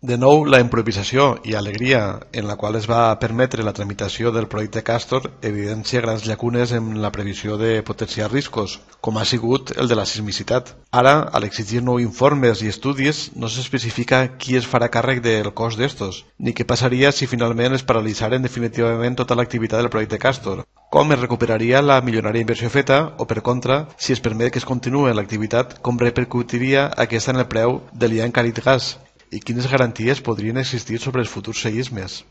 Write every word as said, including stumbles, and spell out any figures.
De nou, la improvisació i alegria en la qual es va permetre la tramitació del projecte Castor evidencia grans llacunes en la previsió de potencials riscos, com ha sigut el de la sismicitat. Ara, al exigir nous informes i estudis, no s'especifica qui es farà càrrec del cost d'estos, ni què passaria si finalment es paralitzaren definitivament tota l'activitat del projecte Castor. Com es recuperaria la milionària inversió feta o, per contra, si es permet que es continuï l'activitat, com repercutiria aquesta en el preu de l'Ian Carit Gas? I quines garanties podrien existir sobre els futurs seismes?